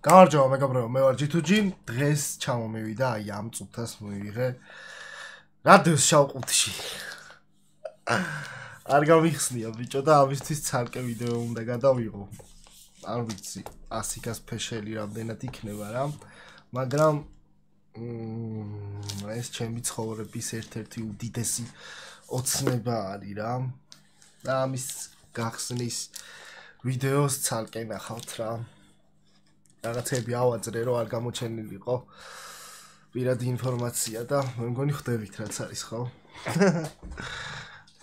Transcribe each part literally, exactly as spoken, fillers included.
გამარჯობა მეგობრებო, მე ვარ ჯი თუ ჯი. დღეს ჩამომივიდა აი ამ წუთას მივიღე რადიოს შავყუთში. არ გამიხსნია ბიჭო და ამისთვის ცალკე ვიდეო უნდა გადავიღო. არ ვიცი, ასიკას ფეშელი რამდენად იქნება რა, მაგრამ მმ ეს ჩემი ცხოვრების ერთ-ერთი უდიდესი ოცნება არის რა. და ამის გახსნის ვიდეოს ცალკე ნახავთ რა. რაღაცები ავაძრე რომ არ გამოჩენილიყო პირადი ინფორმაცია და მე მგონი ხვდებით რაც არის ხო?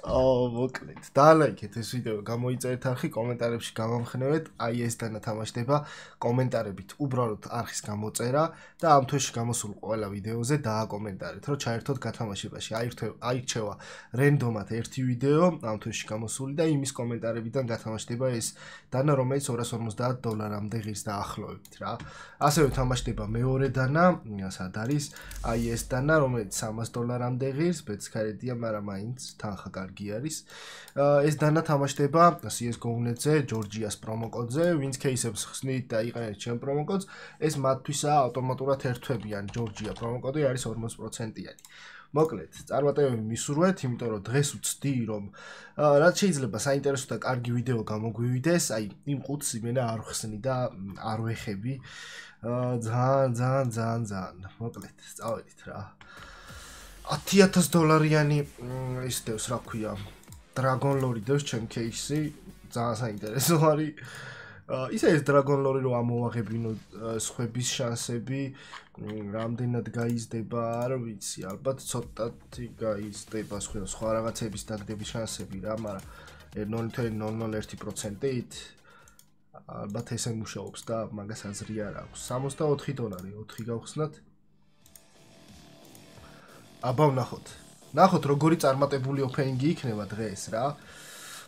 აუ მოკლედ დალაიქეთ ეს ვიდეო, გამოიწერეთ არხი, კომენტარებში გამომხნევეთ, აი ეს დანათამაშდება კომენტარებით უბრალოდ არხის გამოწერა და ამ თვეში გამოსულ ყველა ვიდეოზე დააკომენტარეთ, რომ ჩაერთოთ გათამაშებაში. აირჩევა რენდომად ერთი ვიდეო ამ თვეში გამოსული და იმის კომენტარებიდან გათამაშდება ეს დანა, რომელიც ორას ორმოცდაათ დოლარამდე ღირს დაახლოებით რა. ასევე თამაშდება მეორე დანა, სად არის? აი ეს დანა, რომელიც სამას დოლარამდე ღირს, ბეცქარედია, მაგრამ მაინც თანხა კარგი არის. ეს დანა თამაშდება სი ეს გო-ნეტზე, ჯორჯიას პრომოკოდზე, ვინც кейსებს ხსნით და იყენებთ ჩემ პრომოკოდს, ეს მათთვისაა ავტომატურად ერთვებიან ჯორჯია პრომოკოდი არის ორმოც პროცენტიანი. მოკლედ, წარმატებები მისურვეთ, იმიტომ რომ დღეს ვცდი რომ რაც შეიძლება საინტერესო და კარგი ვიდეო გამოგვივიდეს, აი იმ ყუთს იმენა არ ხსნი და არ ვეხები. ძალიან ძალიან ძალიან ძალიან. მოკლედ, წავედით რა. ათი ათას დოლარიანი ის დევს, რა ქვია, Dragon Lore დევს ჩემ кейსი, ძალიან საინტერესო არის. ისე ეს Dragon Lore რომ ამოვაღებინო სხვების შანსები, რამდენად გაიზრდება, არ ვიცი, ალბათ ცოტათი გაიზრდება სხვა რაღაცების დაგდების შანსები რა, მაგრამ ნული თვლა ნული ნული ერთი პროცენტით ალბათ ესე მუშაობს და მაგას აზრი არ აქვს. სამოცდაოთხი დოლარი, ოთხი გავხსნათ. აბა ვნახოთ. ნახოთ როგორი წარმატებული ოფენინგი იქნება დღეს რა.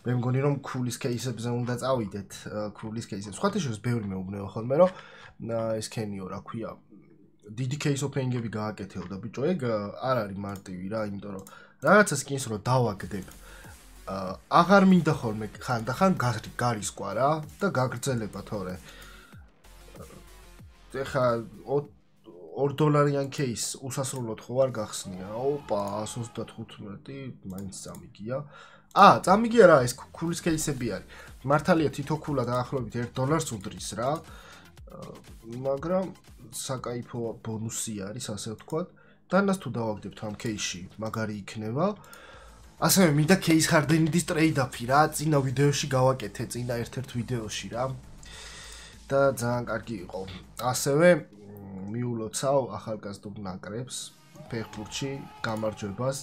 მე მგონი რომ ქულის кейსებზე უნდა წავიდეთ, ქულის кейსებს. სხვათა შორის ბევრი მეუბნება ხოლმე რომ ეს ქენიო რა ქვია. დიდი кейს ოფენინგები გააკეთეო და ბიჭო ეგ არ არის მარტივი რა, იმიტომ რომ რაღაცა სკინს რო დავაგდებ. აღარ მინდა ხოლმე ხან და ხან გარისკვა რა და გაგრძელება თორე. ეხა ორ დოლარიან кейს უსასრულოდ ხო არ გახსნია. ოპა, ას ოცდათხუთმეტი მაინც წამიგია. აა, წამიგია რა, ეს ქულის кейსები არის. მართალია თითო ქულა დაახლოებით ერთ დოლარს უდრის რა. მაგრამ საკაიფო ბონუსი არის, ასე ვთქვათ. დანას თუ დავაგდებთ ამ кейსში, მაგარი იქნება. ასევე მინდა кейს ჰარდენიდის ტრეიდაფი რა, წინა ვიდეოში გავაკეთე, წინა ერთ-ერთ ვიდეოში რა. და ძალიან კარგი იყო. ასევე მიულოცავ ახალგაზრდულ ნაკრებს ფეხბურთში გამარჯვებას,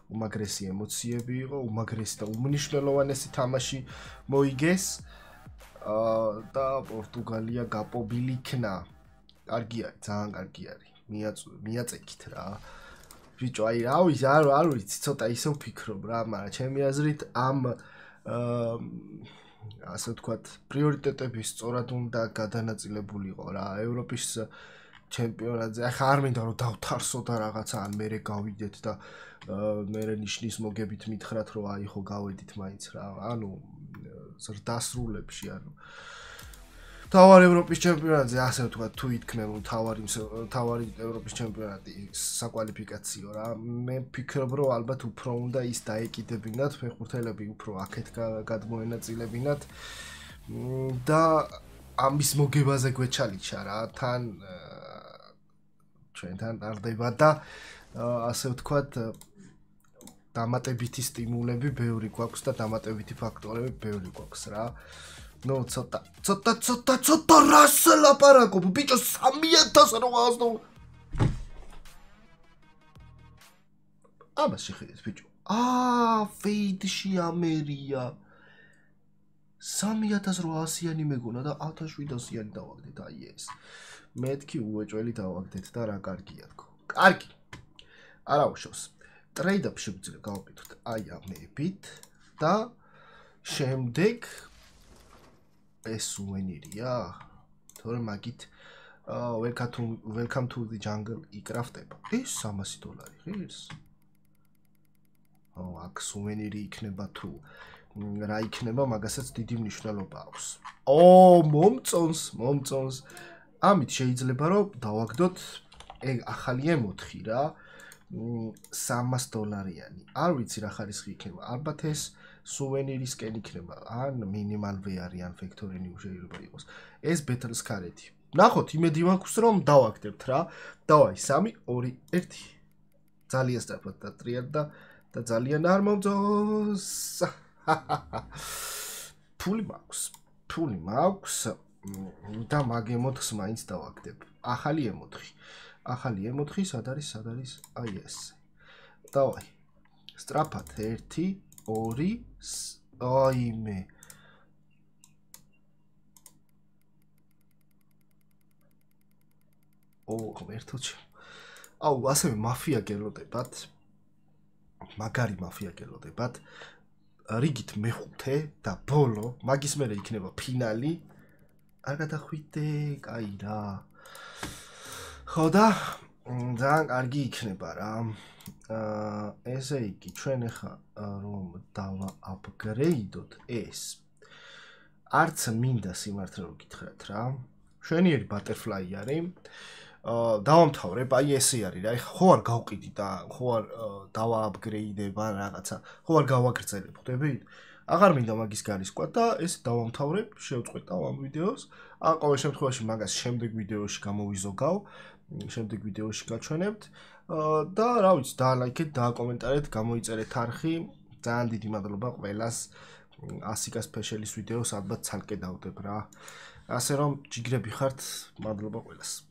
უმაგრესი ემოციები იყო, უმაგრესი და უმნიშვნელოვანესი თამაში მოიგეს და პორტუგალია გაპობილი იქნა. კარგი არის, ძალიან კარგი არის. მიაწეკით რა. ბიჭო, აი რა ვიცი, არ არ ვიცი, ცოტა ისე ვფიქრობ რა, მაგრამ ჩემი აზრით ამ ასე ვთქვათ, პრიორიტეტები სწორად უნდა გადანაწილებულიყო რა. ევროპის ჩემპიონატზე. ახლა არ მინდა რომ დავთარსო და რაღაცა ან მერე გავიდეთ და მერე ნიშნის მოგებით მითხრათ რომ აი ხო გავედით მაინც რა. ანუ ზრდასრულებში ანუ თავარი ევროპის ჩემპიონატზე ასე ვთქვათ თუ ითქმენ რომ თავარი თავარი ევროპის ჩემპიონატი საკვალიფიკაციო რა. მე ვფიქრობ რომ ალბათ უფრო უნდა ის დაეკიდებინათ ფეხბურთელები უფრო აქეთ გადმოენაწილებინათ და ამის მოგებაზე გვეჩალიჩა რა. თან ჩვენთან ტარდება და ასე ვთქვათ დამატებითი სტიმულები ბევრი გვაქვს და დამატებითი ფაქტორები ბევრი გვაქვს რა. ნუ ცოტა ცოტა ცოტა ცოტა რას ლაპარაკობ ბიჭო სამი ათას რვაას დოლარი. ამაში ხედეთ ბიჭო. აა ფეიდში ამერია. სამი ათას რვაასიანი მეგონა და ათას შვიდასიანი დავაგდეთ აი ეს. მეთქი უეჭველი დავაგდეთ და რა კარგია თქო. კარგი. არა უშავს. ტრეიდაპ შეგვიძლია გავაკეთოთ აი ამებით და შემდეგ ეს სუვენირია. თორე მაგით welcome to welcome to the jungle იკრაფტება. ეს სამასი დოლარი ღირს. აუ აქ სუვენირი იქნება თუ რა იქნება, მაგასაც დიდი მნიშვნელობა აქვს. ო, მომწონს, მომწონს. ამით შეიძლება რომ დავაგდოთ ეგ ახალი ემ ოთხი რა სამას დოლარიანი. არ ვიცი რა ხარისხი იქნება. ალბათ ეს სუვენირისკენ იქნება. ან მინიმალ ვეარი ან ფექტორი ნიუ შეიძლება იყოს. ეს ბეთლს ქარეთი. ნახოთ, იმედი მაქვს რომ დავაგდებთ რა. დავაი სამი ორი ერთი. ძალიან სწრაფად დატრიალდა და ძალიან არ მომწონს. ფული მაქვს. ფული მაქვს და მაგ ემ ოთხს მაინც დავაგდებ. ახალი ემ ოთხი. ახალი ემ ოთხი სად არის? სად არის? აი ეს. დავაი. სწრაფად ერთი ორი აი მე. ო, ღმერთოჩი. აუ, ასევე მაფია გელოდებათ. მაგარი მაფია გელოდებათ. რიგით მეხუთე და ბოლო, მაგის მერე იქნება ფინალი. არ გადახვიდე, კაი რა. ხო და ძალიან კარგი იქნება რა. აა ესე იგი, ჩვენ ახლა რომ დავააპგრეიდოთ ეს. არც მინდა სიმართლე რომ გითხრათ რა. შვენიერი ბატერფლაი არის. აა დავამთავრებ, აი ესე არის რა. ხო არ გავყიდი და ხო არ დავააპგრეიდება რაღაცა. ხო არ გავაგრძელებ, ხვდებით? აღარ მინდა მაგის გარისკვა და ეს დავამთავრებ, შევწყვეტავ ამ ვიდეოს. ან ყოველ შემთხვევაში მაგას შემდეგ ვიდეოში გამოვიზოგავ. შემდეგ ვიდეოში გაჩვენებთ და რა ვიცი, დაალაიქეთ, დააკომენტარეთ, გამოიწერეთ არხი. ძალიან დიდი მადლობა ყველას. ასიკა სპეშალის ვიდეოს ალბათ ცალკე დავდებ რა. ასე რომ ჯიგრები ხართ, მადლობა ყველას.